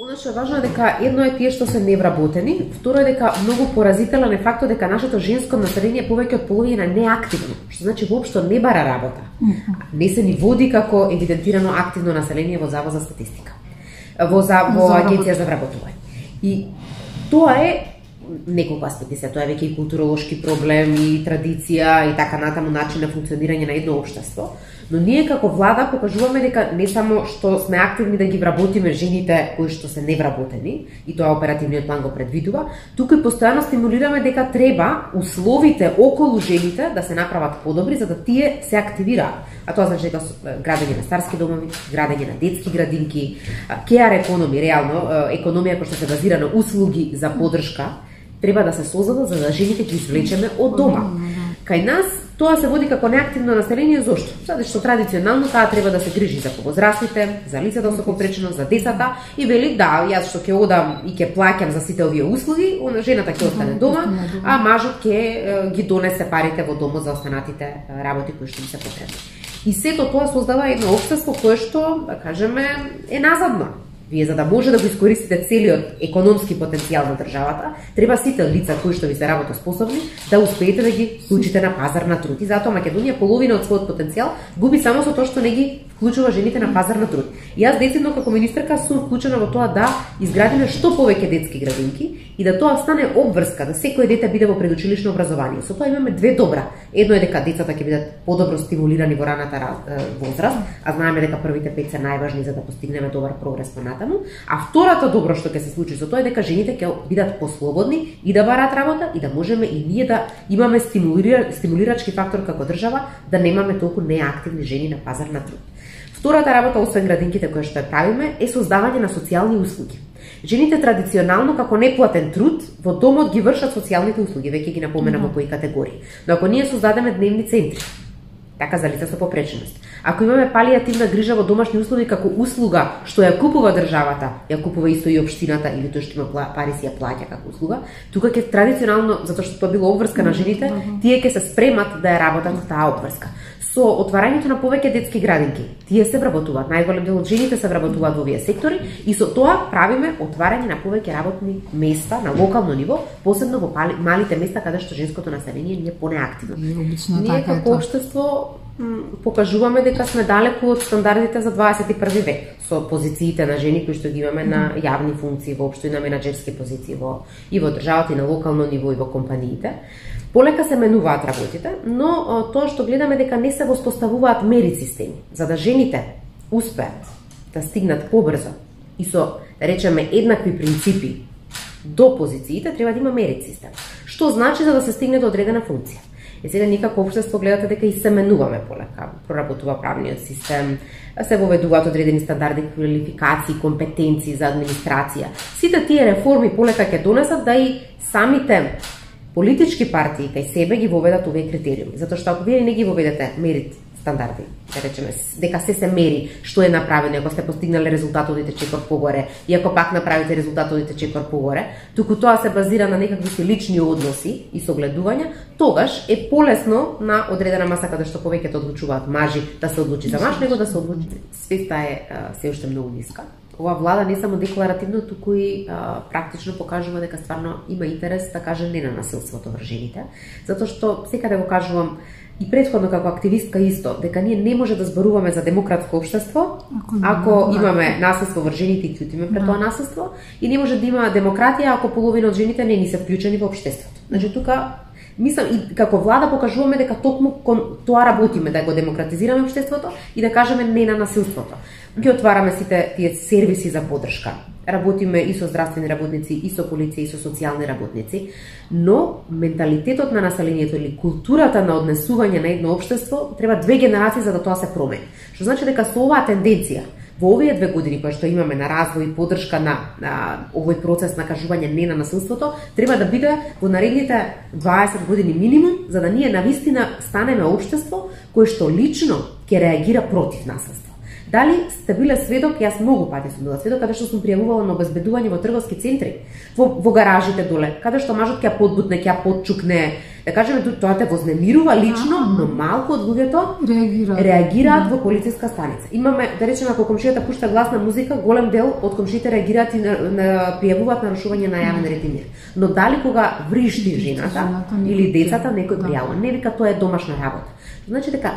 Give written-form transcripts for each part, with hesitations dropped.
Оно што е важно е дека едно е тие што се невработени, второ е дека многу поразителен е фактот дека нашето женско население повеќе од половина е неактивно, што значи воопшто не бара работа. Не се ни води како евидентирано активно население во Завод за статистика, во Агенција за вработување. И тоа е неколку аспекти се, тоа е веќе и културолошки проблем, и традиција, и така натаму начин на функционирање на едно општество. Но ние како влада покажуваме дека не само што сме активни да ги вработиме жените кои што се невработени, и тоа оперативниот план го предвидува, туку и постојано стимулираме дека треба условите околу жените да се направат подобри за да тие се активираат. А тоа значи дека градење на старски домови, градење на детски градинки, care економи, реално економија која што се базира на услуги за поддршка, треба да се создадат за да жените ги извлечеме од дома. Кај нас тоа се води како неактивно население, зошто? Затоа што традиционално таа треба да се грижи за повозрастните, за лицата со попреченост, за децата и вели да, јас што ќе одам и ќе плаќам за сите овие услуги, жената ќе остане дома, а мажот ќе ги донесе парите во домот за останатите работи кои што им се потребни. И сето тоа создава едно општество кое што, да кажеме, е назадно. Вие за да може да го искористите целиот економски потенцијал на државата, треба сите лица кои што ви се работоспособни да успеете да ги вклучите на пазар на труд. И затоа Македонија половина од својот потенцијал губи само со тоа што не ги вклучува жените на пазар на труд. И јас децидно како министерка сум вклучена во тоа да изградиме што повеќе детски градинки и да тоа стане обврска, да секој дете биде во предучилишно образование. Со тоа имаме две добра. Едно е дека децата ќе бидат подобро стимулирани во раната возраст, а знаеме дека првите 5 се најважни за да постигнеме добар прогрес понатаму, а втората добро што ќе се случи со тоа е дека жените ќе бидат послободни и да бараат работа и да можеме и ние да имаме стимулирачки фактор како држава да немаме толку неактивни жени на пазар на труд. Втората работа, освен градинките кои што ја правиме, е создавање на социјални услуги. Жените традиционално како неплатен труд во домот ги вршат социјалните услуги, веќе ги напоменам во кои категории. Но ако ние создадеме дневни центри, така за лица со попреченост, ако имаме палијативна грижа во домашни услови како услуга што ја купува државата, ја купува исто и општината или тој што има пари си ја плаќа како услуга, тука ќе традиционално, затоа што тоа било обврска на жените, тие ќе се спремат да ја работат таа обврска. Со отварањето на повеќе детски градинки, тие се вработуваат, најголем дел од жените се вработуваат во овие сектори и со тоа правиме отварање на повеќе работни места на локално ниво, посебно во малите места каде што женското население не е понеактивно. Ние како општество покажуваме дека сме далеку од стандардите за 21 век со позициите на жени кои што ги имаме на јавни функции, воопшто и на менаџерски позиции и во државата и на локално ниво и во компаниите. Полека се менуваат работите, но тоа што гледаме дека не се воспоставуваат мери системи за да жените успеат да стигнат побрзо и со, да речеме, еднакви принципи до позициите, треба да има мерит систем. Што значи за да се стигне до одредена функција? Сега ние како општество гледате дека и се менуваме полека, проработува правниот систем, се воведуваат одредени стандарди, квалификации, компетенции за администрација. Сите тие реформи полека ќе донесат да и самите политички партии кај себе ги воведат овие критериуми, затоа што ако вие не ги воведете мерит стандарди, да речеме, дека се мери што е направено, ако сте постигнале резултат одите чекор погоре, и ако пак направите резултат одите чекор погоре, туку тоа се базира на некакви си лични односи и согледувања, тогаш е полесно на одредена маса каде што повеќето одлучуваат мажи да се одлучи за маж, него да се одлучи. Свеста е се уште многу ниска. Ова влада не само декларативно, туку и практично покажува дека стварно има интерес да каже не на насилството врз жените, затоа што секаде го кажувам и претходно како активистка исто, дека ние не може да зборуваме за демократско општество ако имаме насилство врз жените и ќутиме пред тоа насилство, и не може да има демократија ако половина од жените не ни се вклучени во општеството. Значи тука мислам и како влада покажуваме дека токму кон тоа работиме, да го демократизираме општеството и да кажеме не на насилството. Ги отвараме сите тие сервиси за поддршка. Работиме и со здравствени работници, и со полиција, и со социјални работници, но менталитетот на населението или културата на однесување на едно општество треба 2 генерации за да тоа се промени. Што значи дека со оваа тенденција во овие 2 години кои што имаме на развој и поддршка на овој процес на кажување не на насилството, треба да биде во наредните 20 години минимум, за да ние навистина станеме општество кое што лично ќе реагира против насилство. Дали сте биле сведок, јас многу пати сум била сведок, каде што сум пријавувала на обезбедување во трговски центри, во гаражите доле, каде што мажот ќе подбутне, ќе подчукне, Да кажеме, тоа те вознемирува лично, но малку од луѓето реагираат во полициска станица. Имаме, да речеме, ако комшијата пушта гласна музика, голем дел од комшиите реагираат и пријавуваат нарушување на јавен ред и мир. Но дали кога вришти жената или децата, некој пријавува, не вика тоа е домашна работа. Значи дека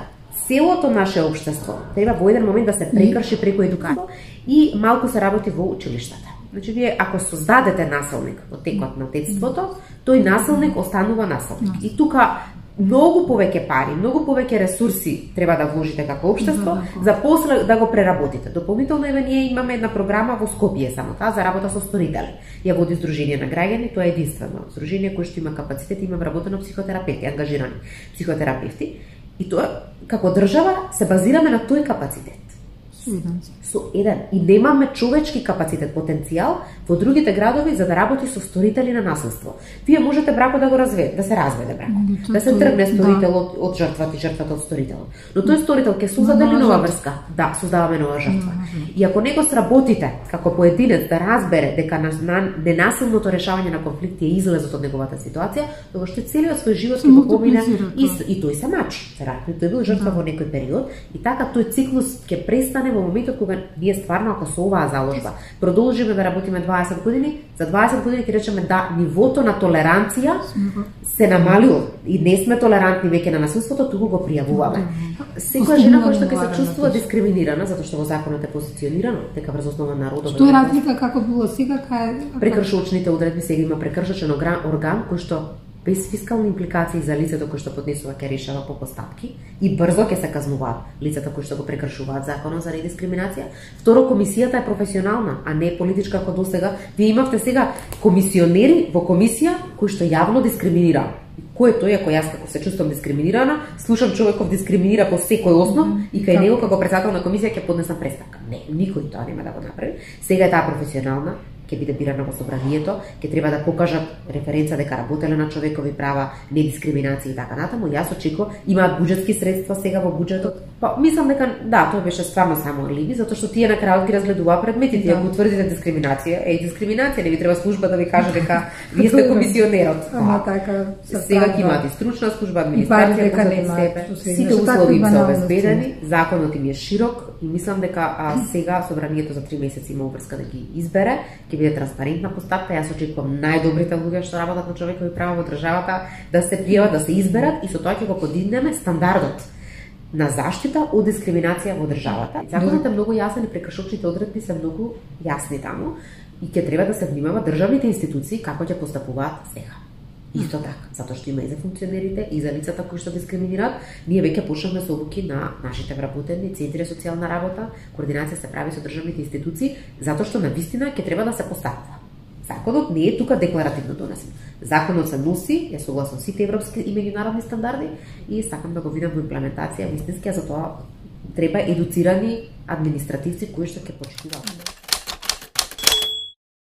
целото наше општество треба во еден момент да се прекрши преку едукација и малку се работи во училиштата. Значи, вие ако создадете насилник во текот на детството, тој насилник останува насилник. И тука многу повеќе пари, многу повеќе ресурси треба да вложите како општество за после да го преработите. Дополнително ние имаме една програма во Скопје само таа за работа со сторители. Ја води Сдружение на граѓани, тоа е единствено здружение кое што има капацитет, има вработено психотерапевти, ангажирани психотерапевти. И тоа како држава се базираме на тој капацитет. Со еден. И немаме човечки капацитет, потенцијал во другите градови за да работи со сторители на насилство. Вие можете бракот да го разведете, да се разведе бракот, да се тргне сторителот од жртвата и жртвата од сторителот. Но тој сторител ќе создаде нова врска. Да, создаваме нова жртва. И ако него сработите како поединец да разбере дека ненасилното решавање на конфликти е излезот од неговата ситуација, тоа што целиот свој живот ќе го помине и тој се мач. Веројатно тој бил жртва во некој период и така тој циклус ќе престане во моментот кога ние стварно ако со оваа заложба продолжиме да работиме 20 години, за 20 години ќе речеме да нивото на толеранција се намалило и не сме толерантни веќе на насилството, туку го пријавуваме. Секоја жена која што ќе се чувствува дискриминирана затоа што во законот е позиционирано дека врз основа на родове. Што е разлика како било сега кај прекршочните одредби, сега има прекршочен орган кој што без фискални импликации за лицето кој што поднесува ќе решава по постапки и брзо ќе се казнуваат лицата кои што го прекршуваат законот за недискриминација. Второ, комисијата е професионална, а не политичка како досега. Вие имавте сега комисионери во комисија кои што јавно дискриминира. Кој е тој ако јас како се чувствам дискриминирана, слушам човеков дискриминира по секој основ и кај него како председател на комисија ќе поднесам преставка. Не, никој тоа нема да го направи. Сега е таа професионална, ќе биде бирана во собранието, ќе треба да покажат референца дека работеле на човекови права, недискриминација и така натаму. Јас очекувам, имаат буџетски средства сега во буџетот. Па мислам дека да, тоа беше стварно само алиби, затоа што тие на крајот ги разгледуваа предметите, ако утврдите дискриминација, дискриминација, не ви треба служба да ви каже дека вие сте комисионерот. Така. Сега ќе имаат и стручна служба, администрација позади себе. Сите услови им се обезбедени, законот им е широк и мислам дека сега собранието за 3 месеци има обврска да ги избере, ќе биде транспарентна постапка. Јас очекувам најдобрите луѓе што работат на човекови права во државата да се пријават, да се изберат и со тоа ќе го подигнеме стандардот на заштита од дискриминација во државата. Законот е многу јасен и прекршочните одредби се многу јасни таму и ќе треба да се внимава државните институции како ќе постапуваат сега. Исто така, затоа што има и за функционерите, и за лицата кои што дискриминираат, ние веќе почнавме со обуки на нашите вработени, центри за социјална работа, координација се прави со државните институции, затоа што навистина ќе треба да се постапува. Законот не е тука декларативно донесен. Законот се носи, е согласно сите европски и меѓународни стандарди и сакам да го видам во имплементација вистински, а за тоа треба едуцирани административци кои што ќе почитуваат.